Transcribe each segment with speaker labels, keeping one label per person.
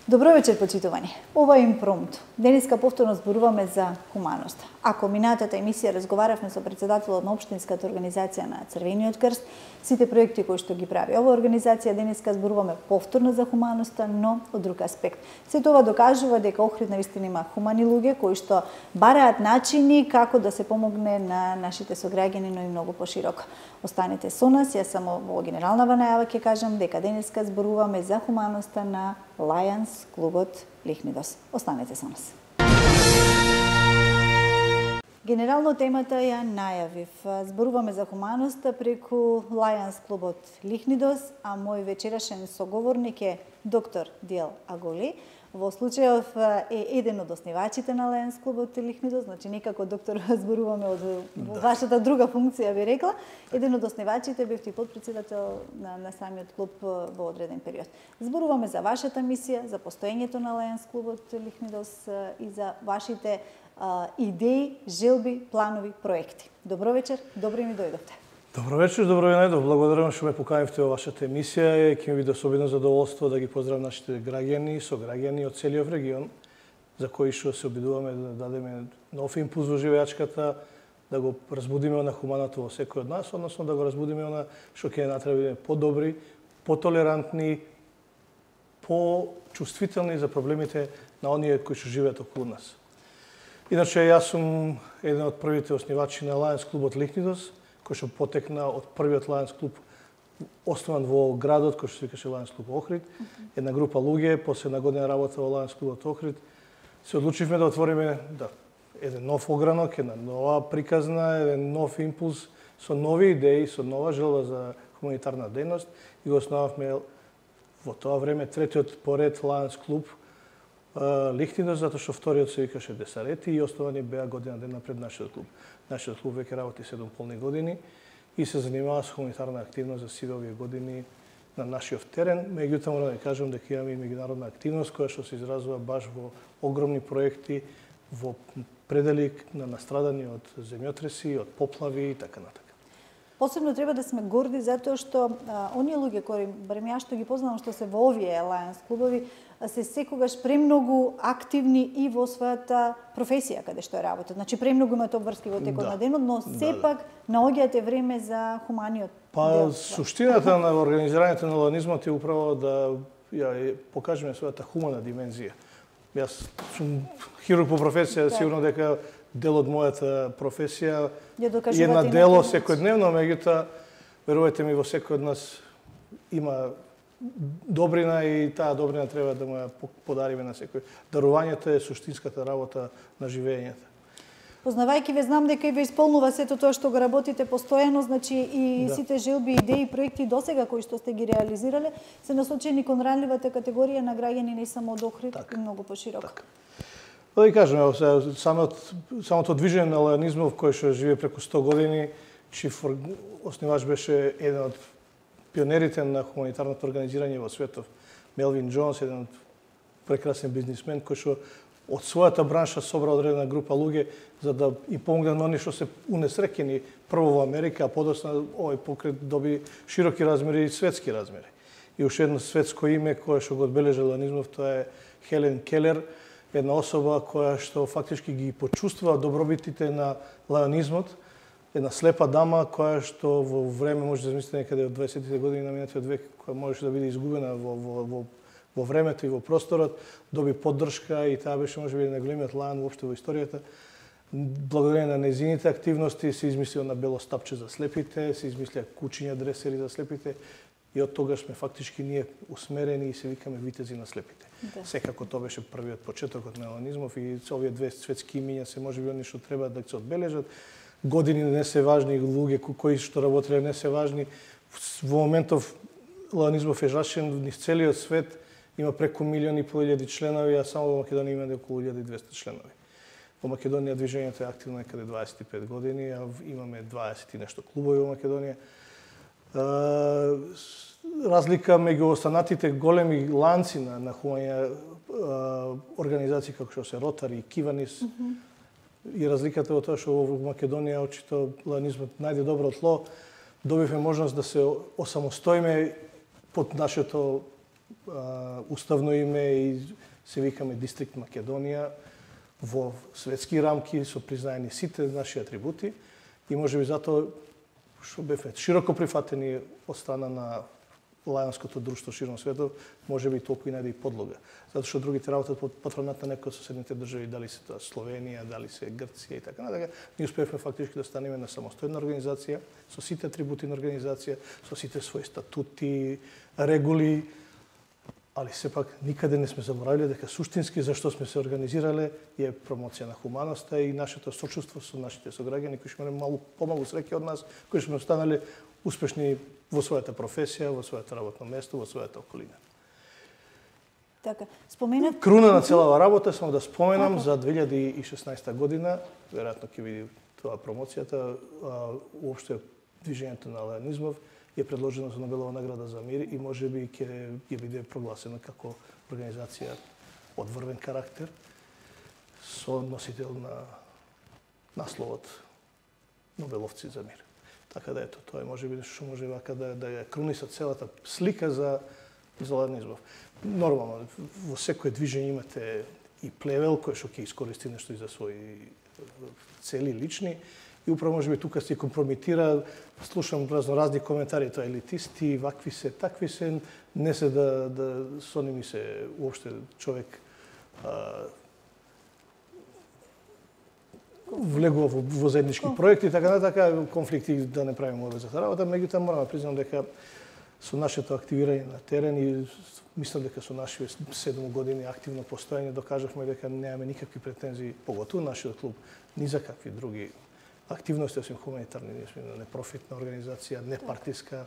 Speaker 1: Добро вечер, почитувани. Ова е импромто. Денеска повторно зборуваме за хуманост. Ако минатата емисија разговаравме со председателот на општинската организација на Црвениот крст, сите проекти кои што ги прави оваа организација, денеска зборуваме повторно за хуманоста, но од друг аспект. Сето ова докажува дека Охрид навистина има хумани луѓе кои што бараат начини како да се помогне на нашите сограѓани, но и многу пошироко. Останете со нас, јас само во генерална најава ќе кажам дека денеска зборуваме за хуманоста на Lions клубот Лихнидос. Останете со нас. Генерално темата ја најавив. Зборуваме за хуманоста преку Lions клубот Лихнидос, а мој вечерашен соговорник е доктор Диел Аголи. Во случајов е еден од основачите на Lions клубот Лихнидос, значи некако доктор зборуваме од вашата друга функција, би рекла. Еден од основачите бевте и подпредседател на самиот клуб во одреден период. Зборуваме за вашата мисија, за постоењето на Lions клубот Лихнидос и за вашите идеи, желби, планови, проекти. Добро вечер, добро ми дојдовте.
Speaker 2: Добро вечер, добро ви најдов. Благодарам што ме поканивте во вашата емисија. Ќе ми биде особено задоволство да ги поздравам нашите граѓани, сограѓани од целиот регион, за кои што се обидуваме да дадеме нов импулс во живеачката, да го разбудиме на хуманото во секој од нас, односно да го разбудиме на што ќе натреби подобри, потолерантни, почувствителни за проблемите на оние кои што живеат околу нас. Иначе, јас сум еден од првите основачи на Lions клубот Лихнидос, кој што потекна од првиот Lions клуб основан во градот, кој што се викаше Lions клуб Охрид. Една група луѓе, после една година работа во Lions клубот Охрид, се одлучивме да отвориме еден нов огранок, една нова приказна, еден нов импулс, со нови идеи, со нова желба за хуманитарна дејност и го основавме во тоа време третиот поред Lions клуб Лихнидос, затоа што вториот се викаше Десарети и основани беа година дена пред нашиот клуб. Нашиот клуб веќе работи 7 полни години и се занимава со хуманитарна активност за сите овие години на нашиот терен. Меѓутоа морам да кажам дека имаме и меѓународна активност која што се изразува баш во огромни проекти во предели на настрадани од земјотреси, од поплави и така натака.
Speaker 1: Посебно треба да сме горди затоа што оние луѓе кои барем јас што ги познавам што се во овие Lions клубови се секогаш премногу активни и во својата професија каде што работат. Значи премногу имате обврски во текот на денот, но сепак наоѓате време за хуманиот дел.
Speaker 2: Суштината на организирањето на ланизмот е управо да ја покажеме својата хумана димензија. Јас сум хирург по професија, сигурно дека дел од мојата професија е на дело секојдневно, меѓутоа верувајте ми, во секој од нас има добрина и таа добрина треба да му ја подариме на секој. Дарувањето е суштинската работа на живењето.
Speaker 1: Познавајќи ве, знам дека и ве исполнува сето тоа што го работите постојано, значи и сите желби, идеи, проекти досега кои што сте ги реализирале се насочени кон ранливата категорија на граѓани не само од Охрид, и многу пошироко.
Speaker 2: Да ви кажем, самото движење на ланизмов кој што живее преку 100 години, чиф основач беше еден од пионерите на хуманитарното организирање во светов, Мелвин Джонс, еден од прекрасен бизнисмен кој што од својата бранша собра одредена група луѓе за да им помогне на оние што се унесреќени прво во Америка, а подоцна овој покрет доби широки размери и светски размери. И уште едно светско име кое што го одбележа ланизмов, тоа е Хелен Келер, една особа која што фактички ги почувствува добробитите на лаонизмот, една слепа дама која што во време може да замислите некаде од 20-тите години на минатиот век, која можеше да биде изгубена во времето и во просторот, доби поддршка и таа беше можеби најголемиот лаон воопшто во историјата. Благодарение на незините активности се измислија на бело стапче за слепите, се измислија кучиња дресери за слепите и од тогаш сме фактички ние усмерени и се викаме витези на слепите. Да. Секако тоа беше првиот почетокот на ланизмов и овие две светски имиња се можеби они што треба да се одбележат. Години не се важни, луѓе кои што работеле не се важни. Во моментов ланизмов е рашен низ целиот свет, има преку 1.500.000 членови, а само во Македонија има околу 1.200 членови. Во Македонија движењето е активно некаде 25 години, а имаме 20 и нешто клубови во Македонија. Разлика меѓу останатите големи ланци на хумани организации како што се Ротари и Киванис, И разликата во тоа што во Македонија очито лајанизмот најде добро тло, добивме можност да се осамостоиме под нашето уставно име и се викаме Дистрикт Македонија во светски рамки со признаени сите наши атрибути и можеби затоа што бевме широко прифатени од страна на лајанското друштво широм светот, можеби толку и најде и подлога. Затоа што другите работат под патронат на некои од соседните држави, дали се тоа Словенија, дали се Грција и така натака, ние успеавме фактички да станеме на самостојна организација, со сите атрибути на организација, со сите своји статути, регули, али сепак никаде не сме заборавиле дека суштински зашто сме се организирале е промоција на хуманоста и нашето сочувство со нашите сограѓани кои што имале помалку среќа од нас, кои што сме останале успешни во својата професија, во својата работно место, во својата околина.
Speaker 1: Така, споменав...
Speaker 2: Круна на целава работа, само да споменам, за 2016 година, веројатно ќе види тоа промоцијата, уопште движењето на лајанизмов е предложено за Нобелова награда за мир и можеби ќе биде прогласено како организација од врвен карактер со носител на насловот Нобеловци за мир. Така да ето, тоа е можеби нешто што може вака да ја круниса целата слика за лајанизмов. Нормално, во секое движење имате и плевел кој што ќе искористи нешто и за своји цели лични и управо можеби тука се компрометира, слушам разни коментари, тоа елитисти, вакви се, такви се, не се да со ними се уопште човек влегува во заеднички проекти, така натака, конфликти да не правиме обезата работа, меѓутоа морам да признам дека со нашето активирање на терен и мислам дека со нашите 7 години активно постоење докажавме дека немаме никакви претензии, поготово нашиот клуб, ни за какви други активности, освен хуманитарни, ние сме непрофитна организација, непартиска,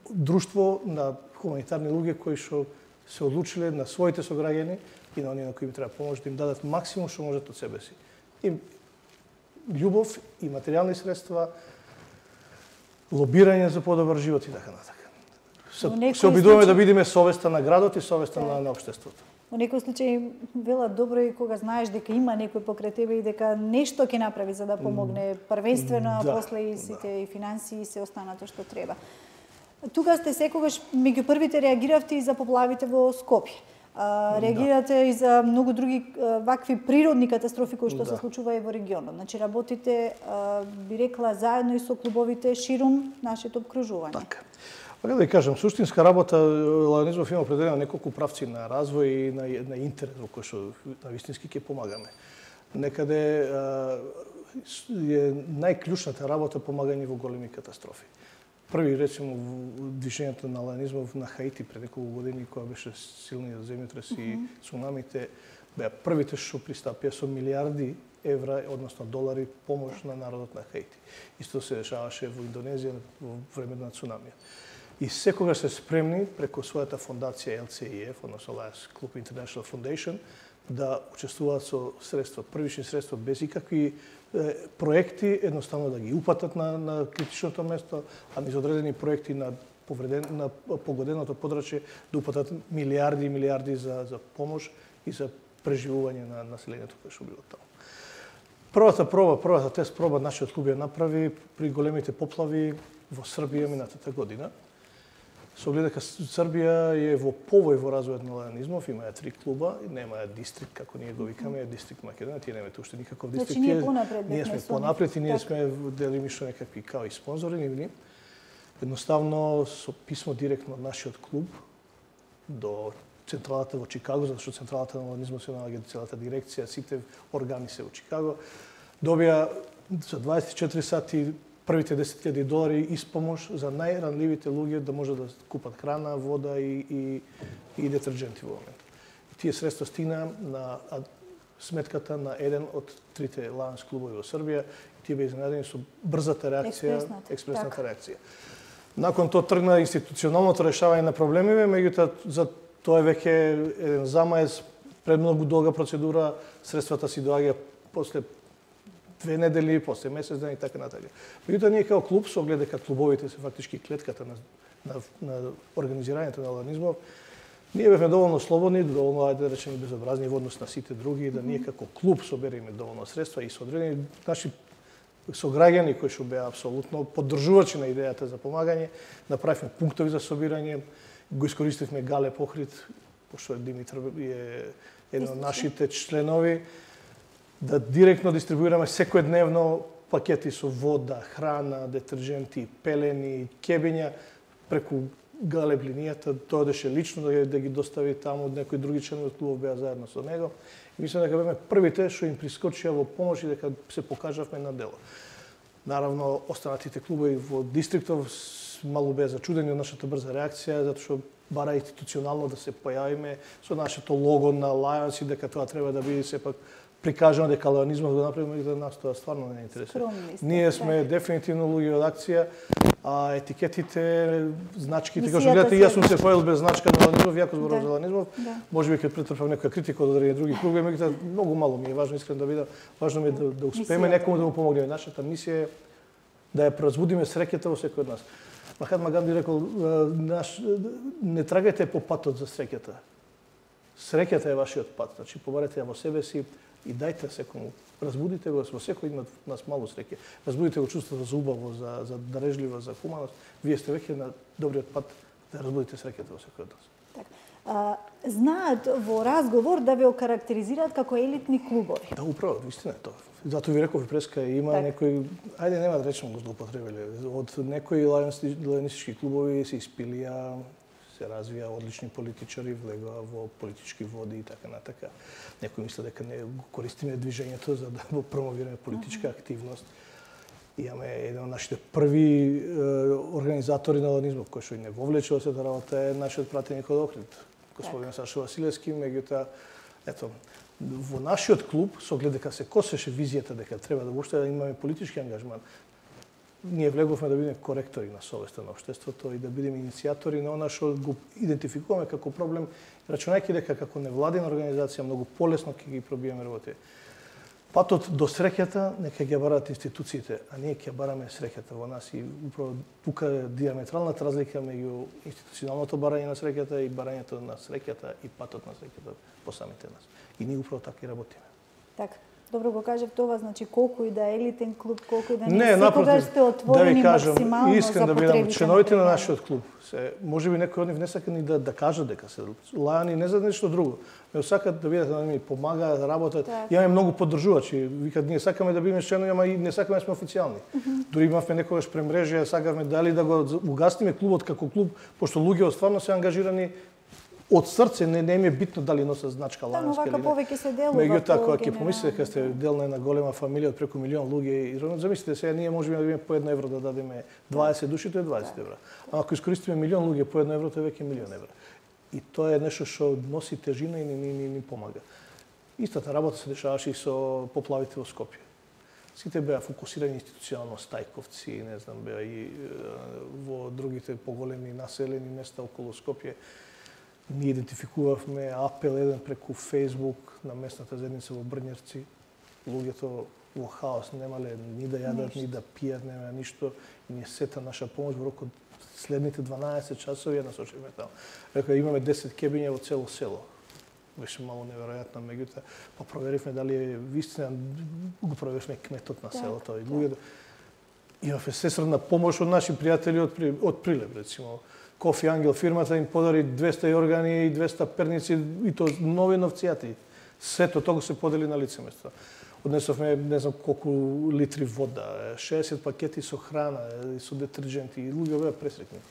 Speaker 2: друштво на хуманитарни луѓе кои што се одлучиле на своите сограѓани и на оние на кои им треба помош да им дадат максимум што можат од себе си. И љубов и материјални средства, лобирање за подобар живот и така натака. Се обидуваме да бидеме совеста на градот и совеста на општеството.
Speaker 1: Во некој случај вела добро и кога знаеш дека има некој покрај тебе и дека нешто ќе направи за да помогне првенствено, а после и сите и финансии и се останато што треба. Тука сте секогаш меѓу првите реагиравте и за поплавите во Скопје. Реагирате и за многу други вакви природни катастрофи кои што се случува и во регионот. Значи работите, би рекла, заедно и со клубовите ширум нашето обкружување.
Speaker 2: Така. Така да ви кажам, суштинска работа, лајанизмов има определено неколку правци на развој и на интерес во кој што на вистински ќе помагаме. Некаде е најклучната работа помагање во големи катастрофи. Први, речемо, движењето на лајанизмов на Хаити пред неколку години, кога беше силниот земјотрес и цунамите, беа првите што пристапија со милиарди евра, односно долари, помош на народот на Хаити. Исто се дешаваше во Индонезија во времето на цунамиот. И секогаш се спремни преку својата фондација LCIF, односно Lions Club International Foundation, да учествуваат со средства, првични средства без икакви проекти, едноставно да ги упатат на критичното место, а низ одредени проекти на погоденото подрачје да упатат милиарди и милиарди за помош и за преживување на населението кое што било таму. Првата тест проба нашиот клуб ја направи при големите поплави во Србија минатата година. Со оглед дека Србија е во повој во развојот на лајанизмов, имаја 3 клуба, немаја дистрикт, како ние го викаме, Дистрикт Македонија, тие немате уште никаков дистрикт.
Speaker 1: Значи ние понапред
Speaker 2: ние сме понапред и ние сме делимично некакви као и спонзори, нивни. Едноставно, со писмо директно од нашиот клуб до централата во Чикаго, затоа што централата на лајанизмот се наоѓа целата дирекција, сите органи се во Чикаго, добија за 24 сати првите $10,000 испомош за најранливите луѓе да може да купат храна, вода и детерџенти во момент. И тие средства стигна на сметката на еден од 3 Lions клубови во Србија и тие беа изненадени со брзата реакција, експресната реакција. Након тоа тргна институционалното решавање на проблемиве, меѓутоа за тоа е веќе еден замаец, премногу долга процедура, средствата си доаѓа после 2 недели, после месец ден и така натаму. Меѓутоа ние како клуб, со оглед дека клубовите се фактички клетката на организирањето на лајанизмов, Ние бевме доволно слободни, доволно, ајде да речеме, безобразни во однос на сите други, да ние како клуб собереме доволно средства и со одредени наши сограѓани кои што беа апсолутно поддржувачи на идејата за помагање, направивме пунктови за собирање, го искористивме Галеб Охрид, пошто Димитар е еден од нашите членови, да директно дистрибуираме секојдневно пакети со вода, храна, детерџенти, пелени, кебиња преку Галеб линијата, тоа одеше лично да ги достави таму, некои други членови од клубов беа заедно со него. И мислам дека беме првите што им прискочија во помош и дека се покажавме на дело. Наравно, останатите клубови во дистриктов мало беа зачудени од нашата брза реакција, затоа што бара институционално да се појавиме со нашето лого на Lions и дека тоа треба да биде сепак прикажано дека лајонизмот го направиме и да нас тоа стварно не интересира. Ние сме дефинитивно луѓе од акција, а етикетите, значките, како што гледате, јас сум се појавил без значка на лајонизмов, јако зборувам за лајонизмов, можеби ќе претрпам некоја критика од други кругови, меѓутоа многу мало ми е важно искрено да видам, важно ми е да успееме некому да му помогнеме. Нашата мисија е да ја разбудиме среќата во секој од нас. Махатма Ганди рекол, не трагајте по патот за среќата. Среќата е вашиот пат, значи побарете ја во себе си и дајте секому, разбудите го, во секој има нас малу среќа. Разбудите го чувството за убаво, за дарежливо, за хуманост. Вие сте веќе на добриот пат да разбудите среќата во секој од нас.
Speaker 1: Знаат во разговор да ве окарактеризираат како елитни клубови.
Speaker 2: Да, управо, вистина е тоа. Затоа ви реков преска, има некои, ајде нема да речем го злоупотребиле, од некои лајонистички клубови се испилија, се развија одлични политичари, влегоа во политички води и така натака. Некои мислат дека не го користиме движењето за да го промовираме политичка активност. Имаме еден од нашите први организатори на лајонизмот, кој што и не вовлече во сета работа е нашиот пратеник од Охрид, господин Сашо Василевски, меѓутоа, ето, во нашиот клуб, со оглед дека се косеше визијата дека треба да воопште да имаме политички ангажман, ние влеговме да бидеме коректори на совеста на општеството и да бидеме иницијатори на она што го идентификуваме како проблем, рачунајќи дека како невладина организација многу полесно ќе ги пробиеме работи. Патот до среќата нека ги бараат институциите, а ние ќе бараме среќата во нас и управо тука е диаметралната разлика меѓу институционалното барање на среќата и барањето на среќата и патот на среќата по самите нас. И ние управо така и работиме.
Speaker 1: Така. Добро го кажав тоа, значи колку и да е елитен клуб, колку и да не секогаш сте отворени максимално
Speaker 2: искрен да бидам членовите на нашиот клуб. Можеби некои од нив не сакаат ни да кажат дека се лајани, не за нешто друго. Не сакаат да видат да ми помагаат, да работат. Имаме многу поддржувачи. Викаат ние сакаме да бидеме членови, ама и не сакаме да сме официјални. Дури имавме некогаш премрежја, сакавме дали да го угасниме клубот како клуб, пошто луѓето стварно се ангажирани од срце, не им е битно дали носат значка лајонска или не.
Speaker 1: Повеќе се делува.
Speaker 2: Меѓутоа, кога ќе помислите дека сте дел на една голема фамилија од преку милион луѓе, и замислите сега ние можеме да бидеме по 1 евро да дадеме 20 души, тоа е 20 евра. А ако искористиме милион луѓе по 1 евро, тоа е веќе милион евра. И тоа е нешто што носи тежина и ни помага. Истата работа се дешаваше и со поплавите во Скопје. Сите беа фокусирани институционално, Стајковци, не знам, беа и во другите поголеми населени места околу Скопје. Ние идентификувавме апел еден преку Фејсбук на местната заедница во Брњевци. Луѓето во хаос немале ни да јадат, ни да пијат, нема ништо. И ние сета наша помош во рокот следните 12 часови ја насочивме таму. Река имаме 10 кебиња во цело село. Беше мало неверојатно, меѓутоа па проверивме дали е вистина, го проверивме кметот на селото и луѓето. Имавме сесредна помош од наши пријатели од Прилеп, рецимо. Кофи Ангел фирмата им подари 200 јоргани и 200 перници и то нови новцијати. Сето тоа се подели на лице место. Однесовме не знам колку литри вода, 60 пакети со храна, со детерџенти и луѓе беа пресреќни.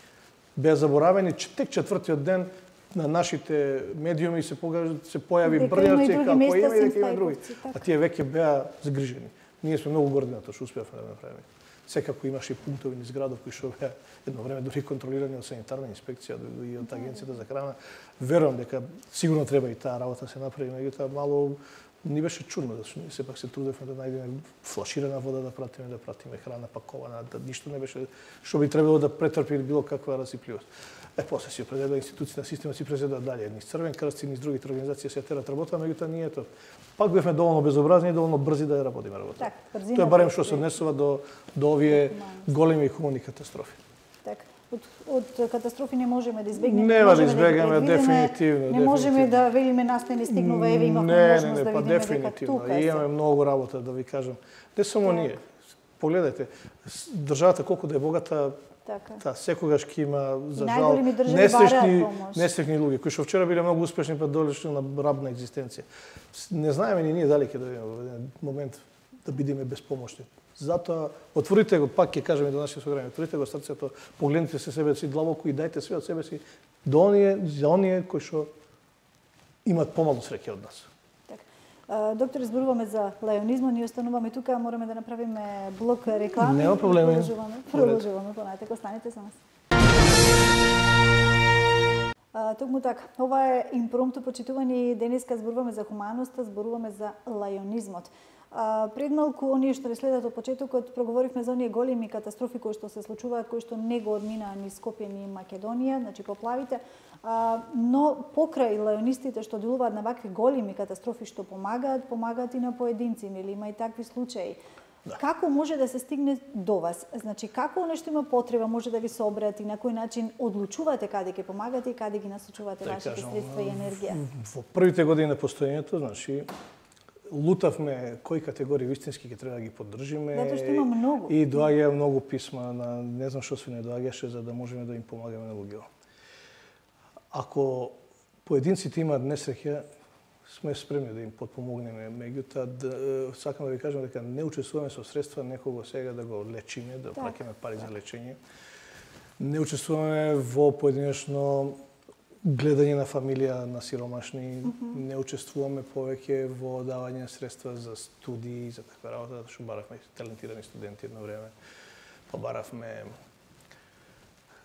Speaker 2: Беа заборавени тек четвртиот ден на нашите медиуми се појави Брњевци како има и дека има други. А тие веќе беа загрижени. Ние сме многу горди на тоа што успеавме да направиме. Секако имаше и пунктови низ градов кои што беа едно време дури контролирани од санитарна инспекција и од агенцијата за храна. Верувам дека сигурно треба и таа работа се направи, меѓутоа мало ни беше чудно да сепак се трудевме да најдеме флаширана вода да пратиме храна пакована, да ништо не беше што би требало да претрпи било каква расипливост. После си определила институциите на системот си презедува дале, низ Црвен крст и низ другите организации се терат работа, меѓутоа ние тоа пак бевме доволно безобразни и доволно брзи да ја работиме работа. Тоа е барем што се однесува до овие големи хумани катастрофи.
Speaker 1: Така. од катастрофи не можеме да избегнеме.
Speaker 2: Нема да избегнеме, дефинитивно.
Speaker 1: Не можеме да велиме нас не стигнува, еве имавме можност да видиме дека тука е.
Speaker 2: Имаме многу работа, да ви кажам. Не само ние. Погледајте, државата колку да е богата, секогаш ќе има, за жал, несреќни луѓе, кои што вчера биле многу успешни, па долешли на раб на екзистенција. Не знаеме ни ние дали ќе дојдеме во еден момент да бидеме безпомошни. Затоа, отворите го, пак ќе кажеме до нашите сограѓани, отворите го срцето, погледнете се себе си длабоко и дајте све од себе си за оние кои што имат помалку среќа од нас.
Speaker 1: Доктор, зборуваме за лајонизмот, ние остануваме тука, мораме да направиме блок реклами.
Speaker 2: Нема проблеми.
Speaker 1: Продолжуваме понатака, останете со нас. Токму така, ова е импромту, почитувани, денеска зборуваме за хуманоста, зборуваме за лајонизмот. Пред малку, оние што следат од почетокот, проговоривме за оние големи катастрофи кои што се случуваат, кои што не го одминаа ни Скопје, ни Македонија, значи поплавите, но покрај лајонистите што делуваат на вакви големи катастрофи што помагаат и на поединци, нели има и такви случаи. Да. Како може да се стигне до вас? Значи, како нешто има потреба, може да ви се обрати, на кој начин одлучувате каде ќе помагате и каде ги насочувате вашите средства и енергија?
Speaker 2: Во првите години на постоењето, значи, лутавме кои категории вистински ќе треба да ги поддржиме.
Speaker 1: Затоа што има многу.
Speaker 2: И доаѓа многу писма на не знам што се не доаѓаше за да можеме да им помагаме на луѓето. Ако поединците имаат несреќа, сме спремни да им подпомогнеме. Меѓутоа, сакам да ви кажам дека не учествуваме со средства некого сега да го лечиме, да плаќаме пари за лечење. Не учествуваме во поединечно гледање на фамилија на сиромашни, не учествуваме повеќе во давање средства за студии, за таква работа, затоа што баравме талентирани студенти едно време, па баравме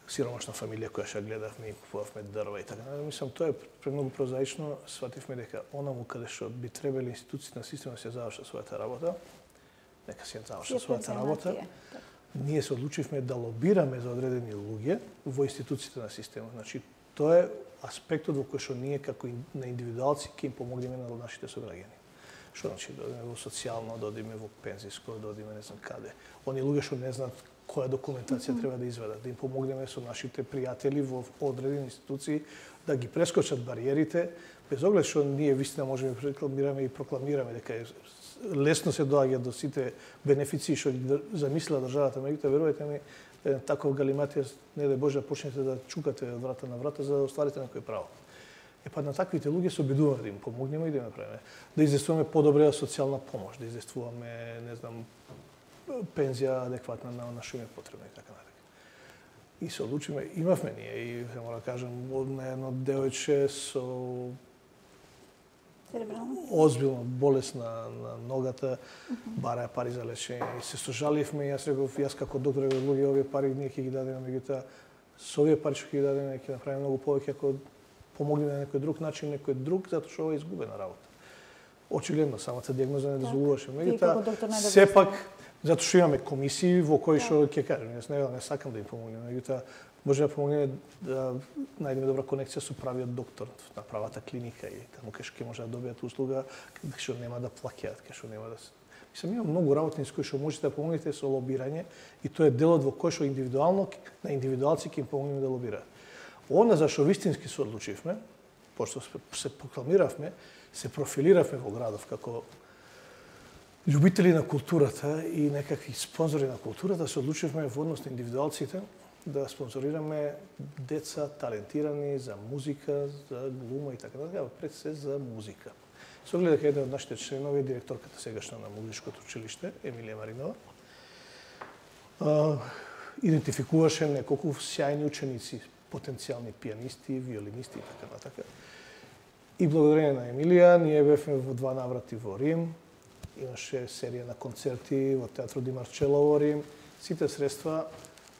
Speaker 2: сиромашна фамилија која што гледавме и купувавме дрва и така. Мислам, тоа е премногу прозаично, свативме дека онаму каде што би требале институциите на системот да се завршат својата работа, нека се завршат својата работа. Ние се одлучивме да лобираме за одредени луѓе во институциите на системот. Значи, тоа е аспектот во кој што ние како на индивидуалци ќе им помогнеме на нашите сограѓани. Што значи да одиме во социјално, да одиме во пензиско, да одиме не знам каде. Они луѓе што не знаат која документација треба да изведат, да им помогнеме со нашите пријатели во одредени институции да ги прескочат бариерите, без оглед што ние вистина можеме да рекламираме и прокламираме дека лесно се доаѓа до сите бенефиции што ги замислила државата, меѓутоа верувајте ми, таков галиматија, не дај Боже, да почнете да чукате од врата на врата за да остварите некој право. На таквите луѓе се обидуваме да им помогнеме и да им направиме. Да издействуваме подобра социјална помош, да издействуваме, не знам, пензија адекватна на што им е потребно и така натаму. И се одлучиме, имавме ние и се мора да кажам на едно девојче со озбилна болест на ногата, бараја пари за лечење и се сожаливме и јас реков, јас како доктор луѓе овие пари ние ќе ги дадеме, меѓутоа со овие пари што ќе ги дадеме ќе направиме многу повеќе ако помогнеме на некој друг начин, некој друг, затоа што ова е изгубена работа. Очигледно, самата дијагноза не дозволуваше, меѓутоа сепак затоа што имаме комисии во кои што ќе кажем, јас не сакам да им помогнем, меѓутоа може да помогнеме да најдеме добра конекција со правиот доктор на правата клиника и таму кај што ќе може да добијат услуга, кај што нема да плаќаат, кај што нема да се. Мислам, има многу работни со кои што можете да помогнете со лобирање и тоа е делот во кој што индивидуално на индивидуалци ќе им помогнеме да лобираат. Она за што вистински се одлучивме, пошто се прокламиравме, се профилиравме во градов како љубители на културата и некакви спонзори на културата, се одлучивме во однос на индивидуалците да спонзорираме деца талентирани за музика, за глума и така натаму, пред се за музика. Со оглед дека еден од нашите членови, директорката сегашна на музичкото училиште, Емилија Маринова, идентификуваше неколку сјајни ученици, потенцијални пианисти, виолинисти и така натака. И благодарение на Емилија, ние бевме во 2 наврати во Рим, имаше серија на концерти во Театро Ди Марчело во Рим. Сите средства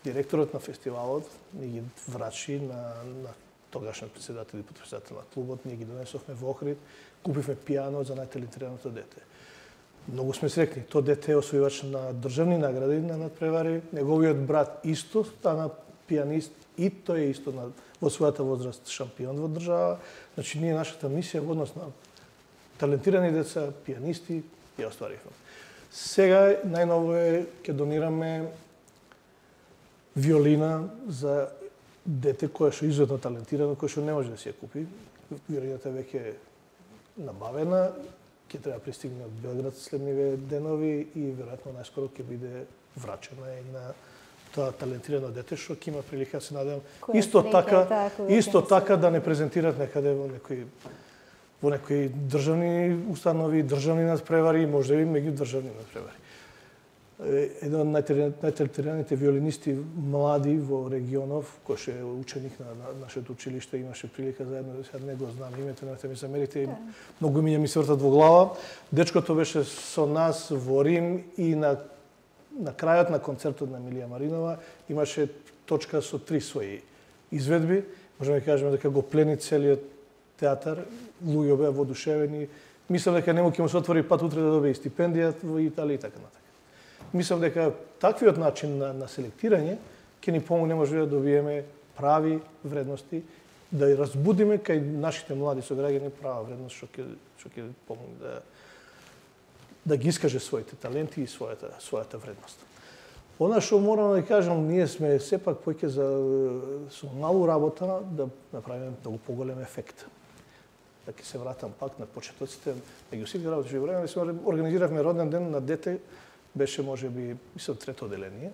Speaker 2: директорот на фестивалот ни ги врачи на тогашниот председател и потпредседател на клубот, ние ги донесовме во Охрид, купивме пијано за најталентираното дете. Многу сме срекни. Тоа дете е освојувач на државни награди на надпревари, неговиот брат исто стана пианист и тој е исто во својата возраст шампион во држава. Значи, ние нашата мисија во однос на талентирани деца, пианисти, ја остваривме. Сега најново ќе донираме виолина за дете кое што е изуетно талентирано, кое што не може да си ја купи. Виолината веќе е набавена, ќе треба пристигне од Белград следниве денови и веројатно најскоро ќе биде врачена и на тоа талентирано дете што ќе има прилика, се надевам, исто така да не презентираат некаде во некои државни установи, државни надпревари, може би меѓу државни надпревари. Еден од најталентираните виолинисти млади во регионов, кој ше е ученик на нашето училиште, имаше прилика заедно, сега не го знам името, немате ми замерите, многу имиња ми се вртат во глава. Дечкото беше со нас во Рим и на крајот на концертот на Емилија Маринова имаше точка со 3 своји изведби. Можеме да кажеме дека го плени целиот театар, луѓе беа воодушевени. Мислам дека нему ќе му се отвори пат утре да добие стипендија во Италија и така натака. Мислам дека таквиот начин на селектирање ќе ни помогне може да добиеме прави вредности, да ја разбудиме кај нашите млади сограѓани права вредност што ќе помогне да ги искаже своите таленти и својата вредност. Она што морам да кажам, ние сме сепак поќе со малу работа да направиме многу поголем ефект. Да ќе се вратам пак на почетоците, меѓу сите работи што време, организиравме роден ден на дете, беше можеби, мислам, 3-то одделение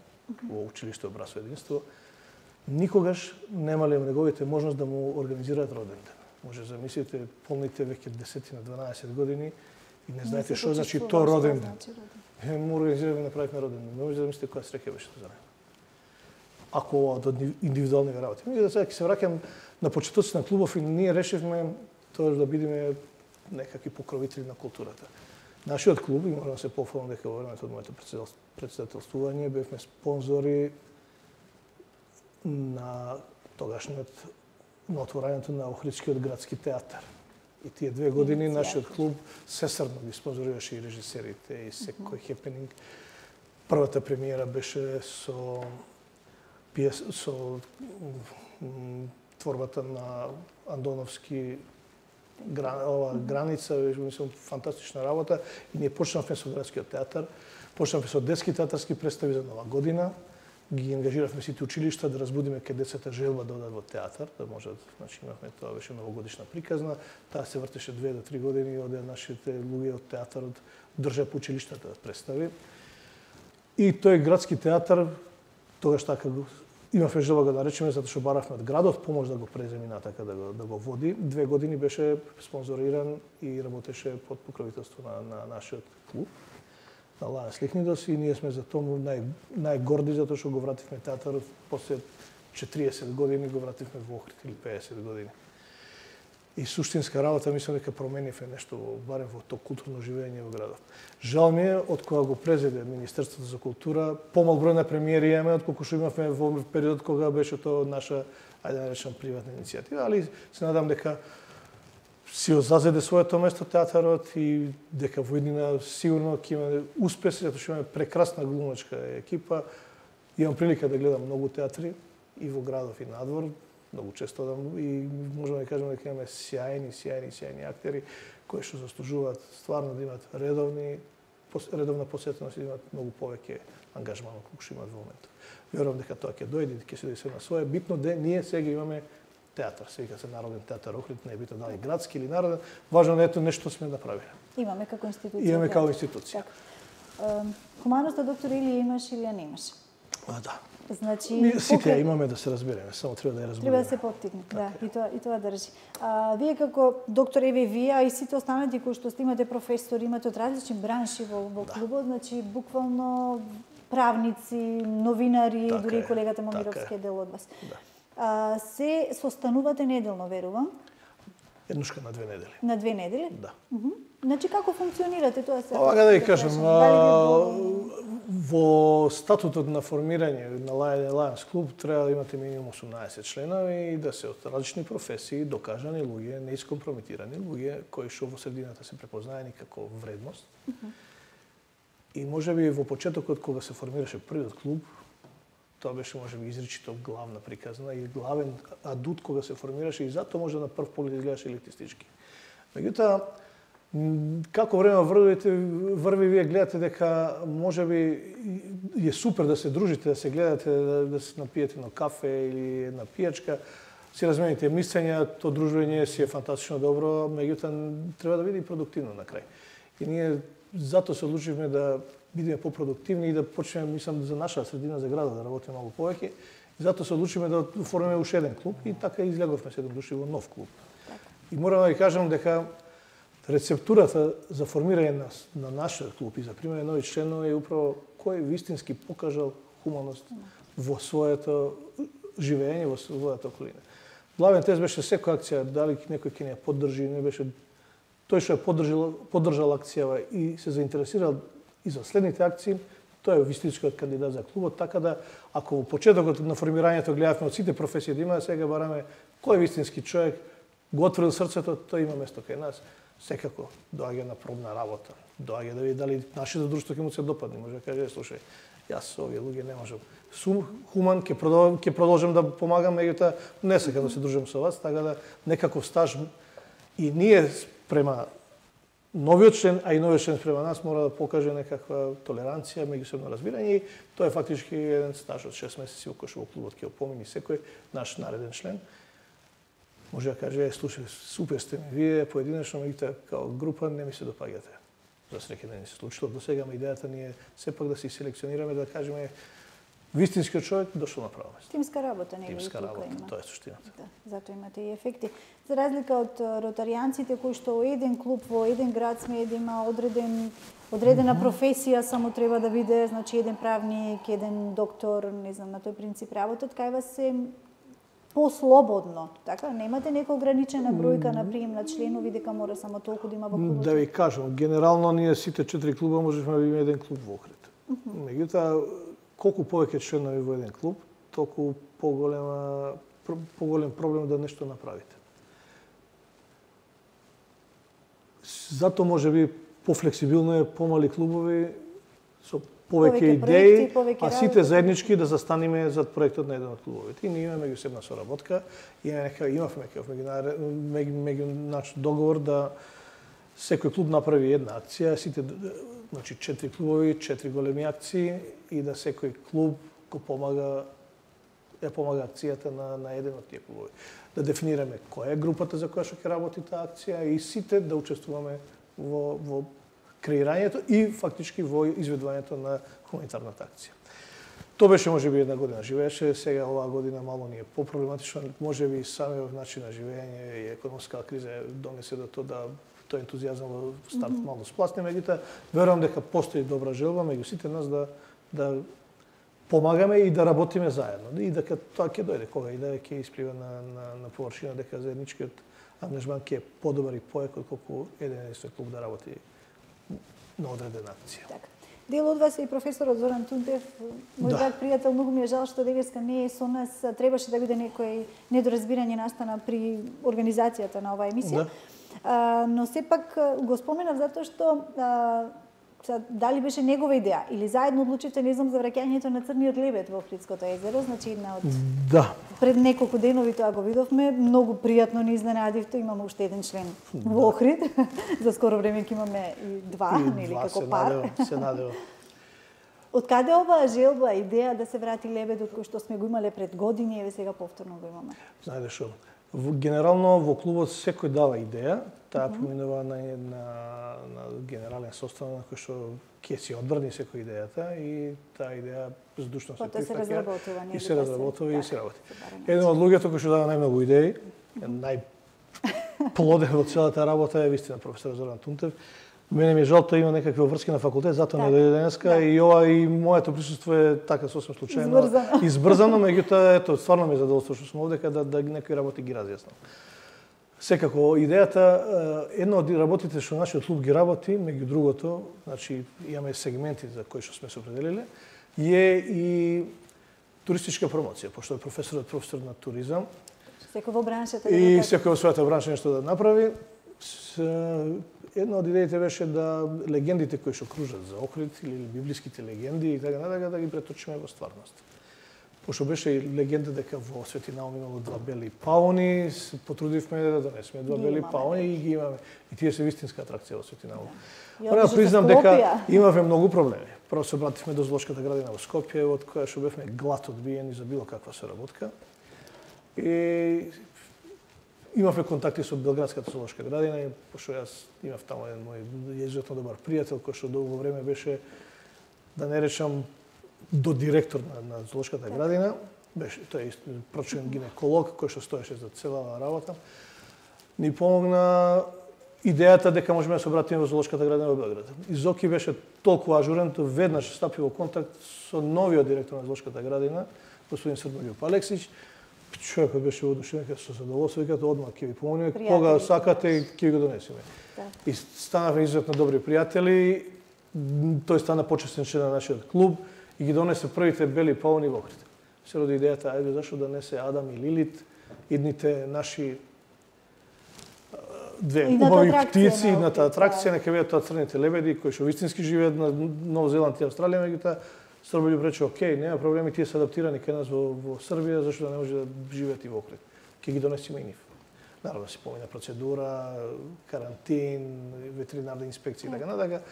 Speaker 2: во училиште Обрасо единство. Никогаш немале неговите можност да му организираат роден ден. Може замислите, полните веќе 10 на 12 години и не знаете што значи тоа роден ден. Му организираме и направивме роден ден. Не може да мислите која среќа беше тоа за него. Ако од индивидуални работи. Меѓутоа сега ќе се враќам на почетоците на клубов и ние решивме тоа да бидеме некакви покровители на културата. Нашиот клуб, и морам да се пофалам дека во времето од моето председателствување бевме спонзори на тогашниот на отворањето на Охридскиот градски театар. И тие 2 години нашиот клуб сесрно ги спонзорираше и режисерите и секој хепенинг. Првата премиера беше со творбата на Андоновски Граница, мислам, фантастична работа. И ние почнавме со градскиот театар, почнавме со детски театарски представи за Нова година, ги ангажиравме сите училишта да разбудиме кај децата желба да одат во театар, да можат, значи имавме тоа беше новогодишна приказна, таа се вртеше 2 до 3 години, оде нашите луѓе од театарот држа по училиштата да представи. И тој градски театар тогаш така имавме желба да речеме затоа што баравме од градот помош да го преземи натака да го води. 2 години беше спонзориран и работеше под покровителство на нашиот клуб, на Лајанс Лихнидос, и ние сме за тоа најгорди затоа што го вративме театарот после 40 години, го вративме во Охрид или 50 години. И суштинска работа, мислам дека променивме нешто, барем во тоа културно живење во градот. Жал ми е, од кога го презеде Министерството за култура, помал број на премиери имаме, отколку што имавме во периодот кога беше тоа наша, ајде да речем, приватна иницијатива, али се надам дека си зазеде своето место театарот и дека во иднина сигурно ќе имаме успеси, затоа што имаме прекрасна глумачка екипа. Имам прилика да гледам многу театри и во градов и надвор, многу често одам и можеме да кажеме дека имаме сјајни актери кои што заслужуваат стварно да имаат редовна посетеност и да имаат многу повеќе ангажман колку што имаат во моментот. Верувам дека тоа ќе дојде и ќе се дојде на своје. Битно да ние сега имаме театар, се вика се Народен театар Охрид, не е битно дали градски или народен, важно е нешто сме направиле.
Speaker 1: Имаме како институција.
Speaker 2: Имаме како институција.
Speaker 1: Хуманоста, доктор, или имаш или ја немаш?
Speaker 2: Да.
Speaker 1: Значи,
Speaker 2: сите ја имаме, да се разбереме, само треба да ја разбереме.
Speaker 1: Треба да се поттикне, да, и тоа држи. Вие како доктор, вие, а и сите останати кои што имате професори, имате од различни бранши во клубот, значи буквално правници, новинари, дури и колегата Момировски е дел од вас. Се состанувате неделно, верувам?
Speaker 2: Еднушка на 2 недели.
Speaker 1: На 2 недели?
Speaker 2: Да.
Speaker 1: Значи, како функционирате тоа се?
Speaker 2: Ова да ви кажам, во статутот на формирање на Лајанс клуб треба да имате минимум 18 членови и да се од различни професии, докажани луѓе, неискомпрометирани луѓе, кои што во средината се препознаени како вредност. И можеби во почетокот кога се формираше првиот клуб, тоа беше можеби изричито главна приказна и главен адут кога се формираше и затоа може на прв поглед изгледаше елитистички. Меѓутоа, Како време врви, вие гледате дека можеби е супер да се дружите, да се гледате, да се напиете на кафе или една пијачка, си размените мислења, то дружење си е фантастично добро, меѓутоа треба да биде и продуктивно на крај. И ние затоа се одлучивме да бидеме попродуктивни и да почнеме, мислам, за нашата средина, за градот да работиме малку повеќе. И затоа се одлучивме да оформиме уште еден клуб и така излеговме 7 души во нов клуб. И морам да ви кажам дека рецептурата за формирање на нашиот клуб и за примање нови членови е управо кој вистински покажал хуманост во своето живење, во својата околина. Главен тест беше секоја акција, дали некој ќе не ја поддржи, не беше тој што ја поддржал акцијава и се заинтересирал и за следните акции, тој е вистинскиот кандидат за клубот, така да ако во почетокот на формирањето гледавме од сите професии да има, сега бараме кој вистински човек го отворил срцето, тој има место кај нас. Секако доаѓа на пробна работа, доаѓа да види дали нашето друштво ќе му се допадне, може да каже, слушај, јас овие луѓе не можам. Сум хуман, ќе продолжам да помагам, меѓутоа не сакам да се дружам со вас, така да некаков стаж и ние према новиот член, а и новиот член према нас мора да покаже некаква толеранција, меѓусебно разбирање и тоа е фактички еден стаж од 6 месеци во кој што во клубот ќе опомени секој наш нареден член. Може да каже, слушај, супер сте ми вие, поединечно, меѓутоа као група не ми се допаѓате. За среќа да не се случило до сега, идејата ни е сепак да си селекционираме, да кажеме вистинскиот човек дошол на право место.
Speaker 1: Тимска работа, не
Speaker 2: Тимска работа, тоа е суштината.
Speaker 1: Да, затоа имате и ефекти. За разлика од ротаријанците кои што еден клуб во еден град смее да има одредена професија, само треба да биде, значи еден правник, еден доктор, не знам, на тој принцип работат, кај вас се послободно, така? Немате нека ограничена бројка на прием на членови дека мора само толку да има во клубот?
Speaker 2: Да ви кажам, генерално ние сите 4 клуба можеме да имаме еден клуб во Охрид. Меѓутоа, колку повеќе членови во еден клуб, толку поголем проблем да нешто направите. Затоа можеби пофлексибилно е помали клубови со повеќе идеи, а сите заеднички да застанеме зад проектот на еден од клубовите. И ние имаме меѓусебна соработка, имавме меѓу договор да секој клуб направи една акција, сите, значи 4 клубови, 4 големи акции и да секој клуб го помага акцијата на еден од тие клубови. Да дефинираме која е групата за која што ќе работи таа акција и сите да учествуваме во креирањето и фактички во изведувањето на хуманитарната акција. Тоа беше можеби една година живееше, сега оваа година мало ни е попроблематично, можеби самиот начин на живење и економска криза донесе до тоа да тој ентузијазам во старт мало спласне, меѓутоа верувам дека постои добра желба меѓу сите нас да помагаме и да работиме заедно. И дека тоа ќе дојде кога и да ќе исплива на површина, дека заедничкиот ангажман ќе е подобар и поек отколку еден единствен клуб да работи на одредена акција.
Speaker 1: Така. Дел од вас е и професорот Зоран Тунтев, мој драг пријател, многу ми е жал што денеска не е со нас, требаше да биде некој недоразбирање настана при организацијата на оваа емисија. Но сепак го споменав затоа што дали беше негова идеја или заедно одлучивте, не знам, за враќањето на црниот лебед во Охридското езеро, значи една од пред неколку денови тоа го видовме, многу пријатно ни изненадивте, имаме уште еден член во Охрид. За скоро време ќе имаме и два, нели како пар.
Speaker 2: Се надева.
Speaker 1: Од каде оваа желба, идеја да се врати лебедот кој што сме го имале пред години, еве сега повторно го имаме?
Speaker 2: Знаете што? Генерално во клубот секој дава идеја, таа поминува на генерален состав на кој што ќе си одбрани секој идејата и таа идеја здушно се прифаќа и се разработува и се работи. Еден од луѓето кој што дава најмногу идеи, најплоден во целата работа е вистина професор Зоран Тунтев. Мене ми е жал, тоа има некакви врски на факултет, затоа не дојде денеска и ова и моето присуство е така сосем случајно избрзано, меѓутоа ето стварно ми е задоволство што сум овдека да некои работи ги разјаснам. Секако идејата, една од работите што нашиот клуб ги работи, меѓу другото, значи имаме сегменти за кои што сме се определиле, е и туристичка промоција, пошто е професор на туризам.
Speaker 1: Секој во браншата
Speaker 2: и секој во својата бранша нешто да направи. Една од идеите беше да легендите кои што кружат за Охрид или библиските легенди и така натака да ги преточиме во стварност. Пошто беше и легенда дека во Свети Наум имало два бели пауни, се потрудивме да донесеме два бели пауни и ги имаме. И тие се вистинска атракција во Свети Наум. Мора да признам дека имавме многу проблеми. Прво се обративме до Зоолошката градина во Скопје, од која што бевме глад одбиени за било каква соработка. И имавме контакти со Белградската зоолошка градина, и пошто јас имав таму еден мој иzuzetно добар пријател кој што долго време беше, да не речам, до директор на зоолошката градина. Беше тој прочен гинеколог кој што стоеше за целава работа. Ни помогна идејата дека можеме да се обратиме во зоолошката градина во Белград. И Зоки беше толку ажурен, веднаш стапи во контакт со новиот директор на зоолошката градина, господин Србољуп Алексич. Човекот беше воодушевен, со задоволство, викате одма ќе ви помогнеме, кога сакате ќе ви го донесеме. И станавме изуzetно добри пријатели. Тој стана почестен член на нашиот клуб и ги донесе првите бели пауни во Охрид. Се роди идејата, ајде зашто да не се Адам и Лилит, идните наши две убави птици, идната атракција, нека видат тоа црните лебеди кои што вистински живеат на Нов Зеланд и Австралија, меѓутоа Србољуп рече, окей, нема проблеми, тие се адаптирани кај нас во Србија, зашто да не може да живеат и во Охрид. Ќе ги донесеме и нив. Наравно се помина процедура, карантин, ветеринарна инспекција и така натака.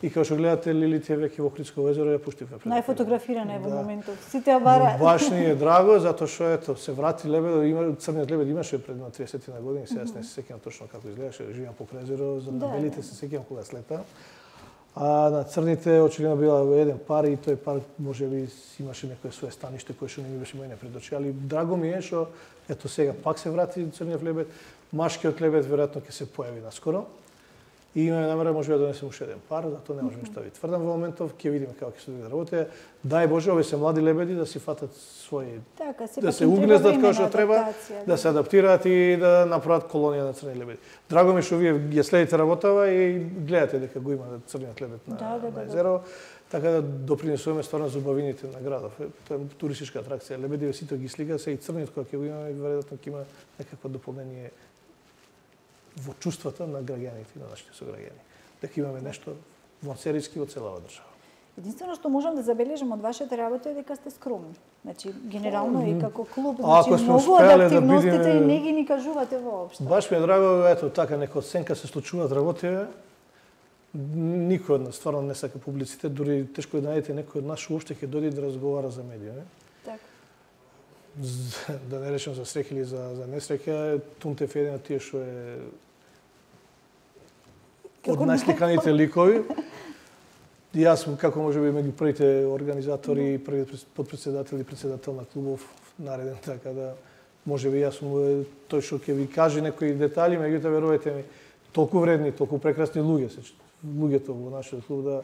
Speaker 2: И како што гледате, Лилит е веќе во Охридско езеро, ја пуштивме пред.
Speaker 1: Најфотографирана е во моментов. Сите ја бараат.
Speaker 2: Баш ни е драго, затоа што ето се врати лебедот, црниот лебед имаше пред на 30 на години, сега не се сеќавам точно како изгледаше, живеам покрај езеро, за на белите се сеќавам кога слета. А на црните очигледно била еден пар и тој пар можеби имаше некое свое станиште кое што не ми беше мојне пред очи, али драго ми е што ето сега пак се врати црниот лебед, машкиот лебед веројатно ќе се појави наскоро. И имаме намера може да донесеме уште еден пар, затоа не можеме што да ви тврдам во моментов, ќе видиме како ќе се одвие работа. Дај Боже, овие се млади лебеди да си фатат своји, да се угнездат како што треба, да се адаптираат и да направат колонија на црни лебеди. Драго ми што вие ја следите работава и гледате дека го има црниот лебед на езеро, така да допринесуваме стварно за убавините на градов. Тоа е туристичка атракција. Лебедиве сите ги слика, се и црниот кога ќе го имаме, веројатно ќе има некакво дополнение во чувствата на граѓаните и на нашите сограѓани. Дека имаме нешто вонсерички во целава држава.
Speaker 1: Единствено што можам да забележам од вашата работа е дека сте скромни. Значи, генерално и како клуб, значи многу од активностите и не ги ни кажувате воопшто.
Speaker 2: Баш ми е драго, ето така, нека оценка се случуваат работите. Никој од нас стварно не сака публицитет, дури тешко да најдете некој од нас што уопште ќе дојде да разговара за медија,
Speaker 1: Така.
Speaker 2: Да не речем за среќа или за несреќа, Тунтев е еден од тие што е од најсликаните ликови. И јас, како може би меѓу првите организатори, првиот подпредседател и председател на клубов нареден, така да може би јас сум тој што ќе ви каже некои детали, меѓутоа верувате ми, толку вредни, толку прекрасни луѓето во нашиот клуб да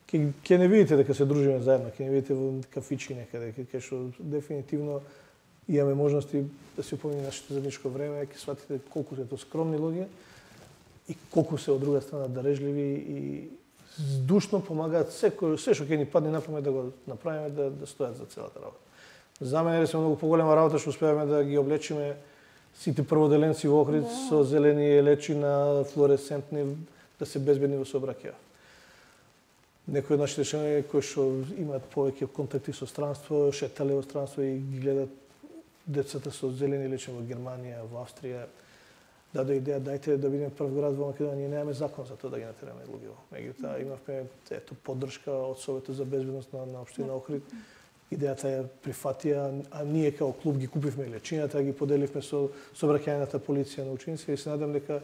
Speaker 2: ќе не видите дека се дружиме заедно, ќе не видите во кафички некаде, кај што дефинитивно имаме можности да се упомни нашето заедничко време, ќе сватите колку се тоа скромни луѓе и колку се од друга страна дарежливи и здушно помагаат се што ќе ни падне на памет да го направиме, да стојат за целата работа. За мене е многу поголема работа што успеавме да ги облечиме сите прводеленци во Охрид со зелени лечина, флуоресцентни, да се безбедни во сообраќај. Некои од нашите членови кои што имаат повеќе контакти со странство, шетале во странство и ги гледат децата со зелени лечени во Германија, во Австрија, даде идеја, дајте да бидеме прв град во Македонија, ние немаме закон за тоа да ги натераме луѓе. Меѓутоа имавме поддршка од Советот за безбедност на општина Охрид. Идејата ја прифатија, а ние како клуб ги купивме лечината, ги поделивме со сообраќајната полиција на ученици и се надам дека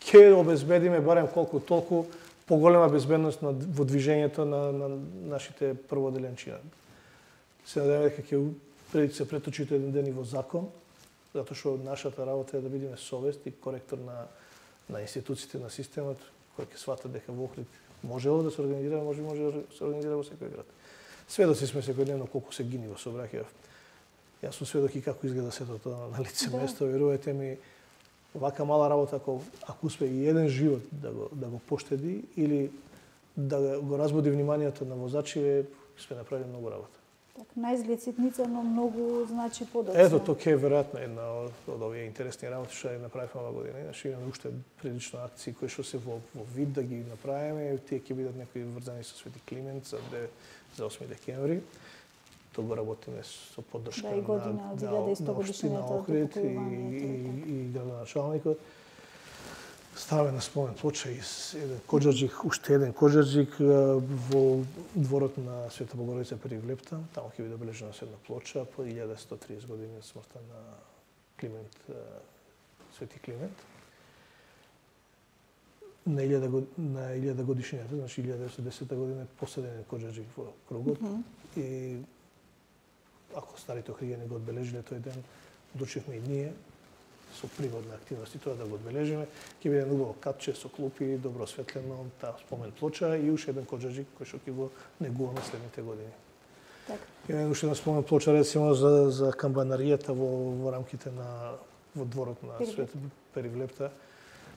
Speaker 2: ќе обезбедиме барем колку толку поголема безбедност во движењето на нашите прводеленчина. Се надеваме дека ќе се преточите еден ден и во закон, затоа што нашата работа е да бидеме совест и коректор на институциите на системот, кој ќе сватат дека во Охрид можело да се организира, може да се организира во секој град. Сведоци сме секојдневно колку се гини во сообраќај. Јас сум сведок и како изгледа сето тоа на лице место, верувате ми, вака мала работа, ако успе и еден живот да го поштеди или да го разбуди вниманието на возачи, сме направили многу работа.
Speaker 1: Так, наизглед ситница, но многу значи подоцна.
Speaker 2: Ето, тоа е веројатно една од овие интересни работи што ја направивме оваа година. Иначе имаме уште прилично акции кои што се во вид да ги направиме. Тие ќе бидат некои врзани со Свети Климент за 8 декември. Тоа го работиме со поддршка
Speaker 1: и година од 1100 годишнината од
Speaker 2: окупувањето и градоначалникот. Ставаме на спомен плоча и еден коџарџик, уште еден коџарџик во дворот на Света Богородица при Влепта. Таму ќе биде обележена една плоча по 1130 години од смртта на Климент, Свети Климент. На 1000 годишнината, значи 1910 година, последен коџарџик во кругот. И ако старите охриѓани го одбележиле тој ден, одлучивме и ние со пригодна активности тоа да го одбележиме. Ќе биде убаво капче со клупи, добро осветлено, таа спомен плоча и уште еден коџарџик кој што ќе го негуваме следните години. Има уште една спомен плоча рецимо за камбанаријата во рамките на во дворот на Свет Перивлепта.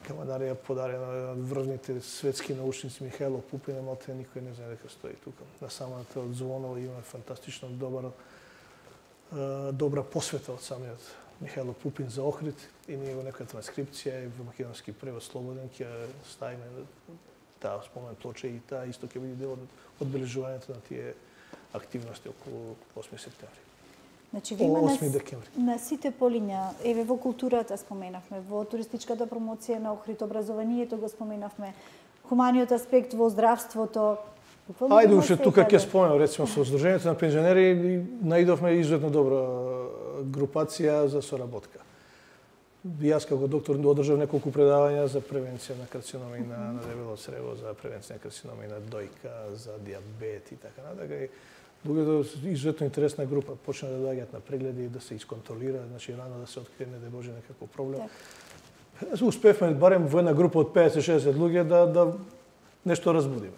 Speaker 2: Камбанарија подарена од врвните светски научници Михајло Пупин, малте никој не знае дека стои тука. На самата од звонова има фантастично добра посвета од самиот Михајло Пупин за Охрид и ние во некоја транскрипција и во македонски превод слободен ќе ставиме таа спомен плоча и таа исто ќе биде дел од одбележувањето на тие активности околу 8 септември.
Speaker 1: Значи, ви има на сите полиња, еве во културата споменавме, во туристичката промоција на Охрид, образованието го споменавме, хуманиот аспект во здравството.
Speaker 2: Ајде уште тука ќе споменам, рецимо со Сдруженијето на пензионери наидовме изуетно добра групација за соработка. Јас како доктор одржав неколку предавања за превенција на карциноми на дебело црево, за превенција на карциноми на дојка, за диабет и така натака. Луѓето изуетно интересна група почна да доаѓаат на прегледи, да се исконтролира, значи рано да се открие не да може некаков проблем. Успевме барем во една група од 50-60 луѓе да нешто разбудиме.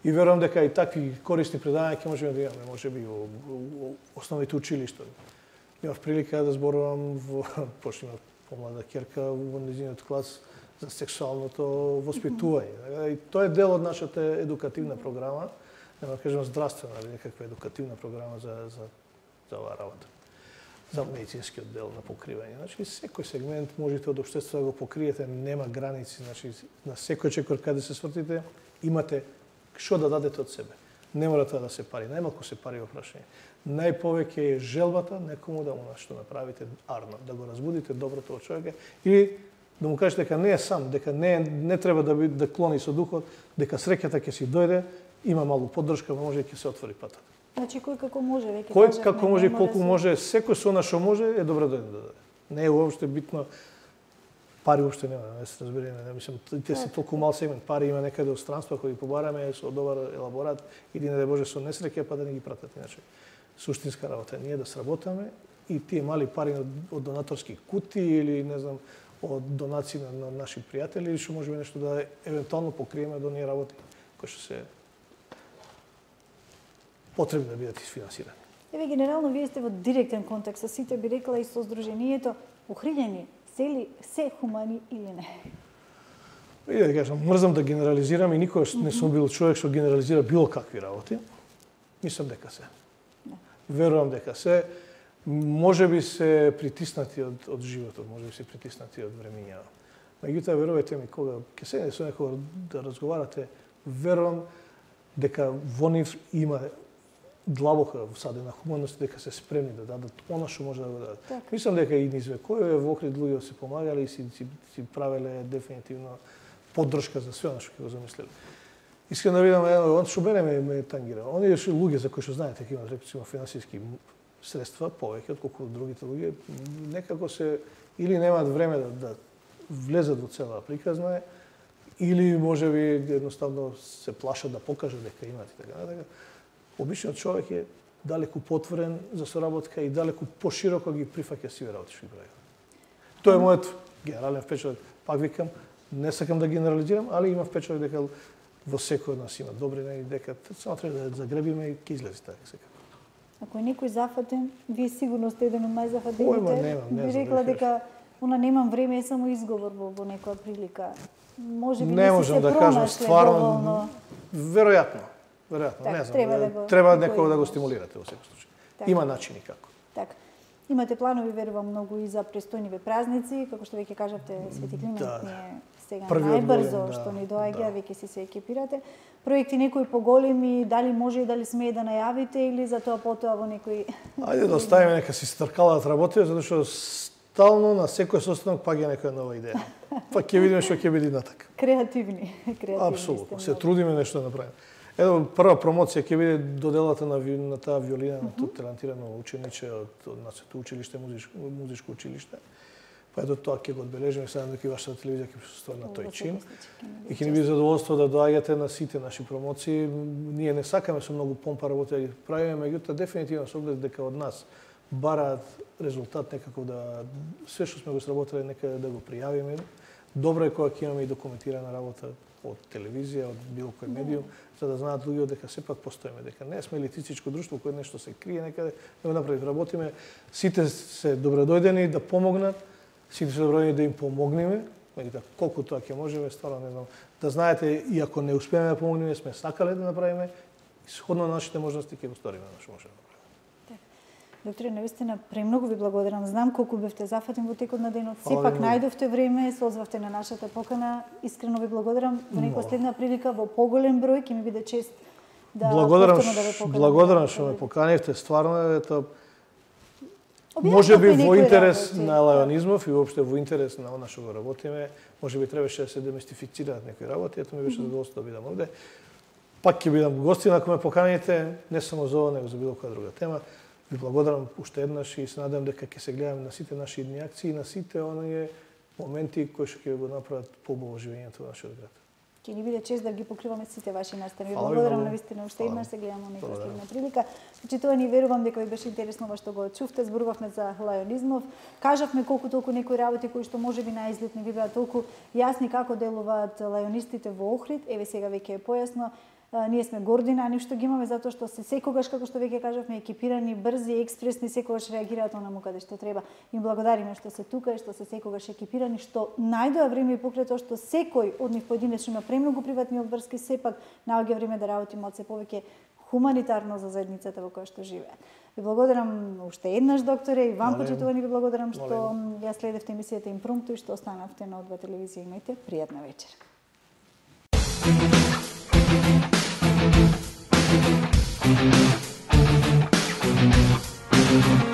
Speaker 2: И верувам дека и такви корисни предавања ќе можеме да имаме, можеби во основните училишта. Имав прилика да зборувам почнем помлада ќерка во нејзиниот клас за сексуалното воспитување. И тоа е дел од нашата едукативна програма, да кажем здравствена, некаква едукативна програма за оваа работа. За медицинскиот дел на покривање. Значи, секој сегмент можете од општеството да го покриете, нема граници. Значи, на секој чекор каде се свртите, имате што да дадете од себе. Не мора тоа да се пари, најмалку се пари во прашање. Најповеќе е желбата некому да му што направите арно, да го разбудите доброто од човека или да му кажете дека не е сам, дека не треба да клони со духот, дека среќата ќе си дојде, има малку поддршка, може ќе се отвори патот.
Speaker 1: Значи кој како може веќе
Speaker 2: кажа. Кој како може и колку може, секој со она што може е добро да даде. Не е уопште битно пари уопште нема, не се разбереме, мислам, те си толку мал сегмент, пари има некаде од странство кои побараме со добар елаборат или не да боже со несреќа па да не ги пратат иначе. Суштинска работа е ние да сработаме и тие мали пари од донаторски кути или не знам од донации на наши пријатели или што можеме нешто да евентуално покриеме до ние работи кои што се потребни да бидат isfinansirani.
Speaker 1: Еве генерално вие сте во директен контакт со сите, би рекла и со Сдруженијето, охриѓани се хумани или не?
Speaker 2: И да кажам, мрзам да генерализирам и никогаш не сум бил човек што генерализира било какви работи. Мислам дека се. Верувам дека се. Може би се притиснати од животот, може би се притиснати од времиња. Меѓутоа, верувајте ми, кога ќе седнете со некој да разговарате, верувам дека во нив има длабока всадена хуманост, дека се спремни да дадат она што може да го дадат. Так. Мислам дека и низ векови во Охрид луѓе се помагали и си правеле дефинитивно поддршка за све она што ќе го замислеле. Искрено да видам, он што мене ме тангира. Оние луѓе за кои што знаете дека имаат рекоцимо финансиски средства повеќе отколку другите луѓе, некако се или немаат време да влезат во целава приказна, или можеби едноставно се плашат да покажат дека имаат и така натака. Обичниот човек е далеку потворен за соработка и далеку пошироко ги прифаќа сиве работи што ги прави. Тоа е мојот генерален впечаток. Пак викам, не сакам да генерализирам, али има впечаток дека во секој од нас има добрина и дека само треба да загребиме и ќе излезе така секако.
Speaker 1: Ако е некој зафатен, вие сигурно сте еден од најзафатените. Би рекла дека немам време, е само изговор во некоја прилика. Може би
Speaker 2: не можам да кажам стварно, веројатно,
Speaker 1: так,
Speaker 2: не знам. Треба некого да го стимулирате во секој случај. Так. Има начини како.
Speaker 1: Така. Имате планови, верувам, многу и за престојниве празници, како што веќе кажавте, Свети Климент е сега најбрзо што ни доаѓа, веќе си се екипирате. Проекти некои поголеми, дали може и дали смее да најавите или за тоа потоа во некои...
Speaker 2: Ајде да оставиме нека си старкалаат работи, затоа што стално на секој состанок паѓа некоја нова идеја. Па ќе видиме што ќе биде натака.
Speaker 1: Креативни.
Speaker 2: Апсолутно, се трудиме нешто да направиме. Ено, прва промоција ќе биде доделата на таа виолина на тоа талантирано учениче од Националното училиште, музичко училиште. Па ето тоа ќе го одбележиме, сега дека и вашата телевизија ќе присуствува на тој чин. И ќе ни биде задоволство да доаѓате на сите наши промоции. Ние не сакаме со многу помпа работи да ги правиме, меѓутоа дефинитивно со оглед дека од нас бараат резултат некако да све што сме го сработиле нека да го пријавиме. Добро е кога ќе имаме и документирана работа од телевизија, од било кој медиум, за да знаат луѓето дека сепак постоиме, дека не сме елитистичко друштво кое нешто се крие некаде, да го направи, работиме. Сите се добродојдени да помогнат, сите се добродојдени да им помогнеме, меѓутоа колку тоа ќе можеме, стварно не знам. Да знаете, и ако не успееме да помогнеме, сме сакале да направиме, сходно на нашите можности ќе го сториме што можеме да направиме.
Speaker 1: Докторе, навистина, премногу ви благодарам. Знам колку бевте зафатен во текот на денот. Сепак најдовте време, се озвавте на нашата покана. Искрено ви благодарам. Во некоја следна прилика во поголем број ќе ми биде чест да повторно да ве поканам.
Speaker 2: Благодарам што ме поканивте. Стварно ето можеби во интерес на лајонизмов и воопште во интерес на она што го работиме, можеби требаше да се демистифицираат некои работи. Ето ми беше задоволство да бидам овде. Пак ќе бидам гостин ако ме поканите, не само за ова, него за било која друга тема. Ви благодарам уште еднаш и се надевам дека ќе се гледаме на сите наши идни акции и на сите оние моменти кои што ќе го направат поубаво живењето во нашиот град.
Speaker 1: Ќе ни биде чест да ги покриваме сите ваши настани. Ви благодарам навистина уште еднаш, се гледаме на некоја следна прилика. Почитувани, верувам дека ви беше интересно ова што го чувте. Зборувавме за лајонизмов. Кажавме колку толку некои работи кои што можеби на изглед не ви беа толку јасни како делуваат лајонистите во Охрид. Еве сега веќе е појасно. Ние сме горди на нив што ги имаме затоа што се секогаш, како што веќе кажавме, екипирани, брзи, експресни, секогаш реагираат онаму каде што треба. Им благодариме што се тука и што се секогаш екипирани, што најдоа време и покрај тоа што секој од нив поединечно има премногу приватни обврски, сепак наоѓа време да работиме од се повеќе хуманитарно за заедницата во која што живеат. Ви благодарам уште еднаш, докторе, и вам почитувани ви благодарам што ја следевте емисијата Импромпту и што останавте на О2 телевизија. Имајте пријатна вечер. Thank you.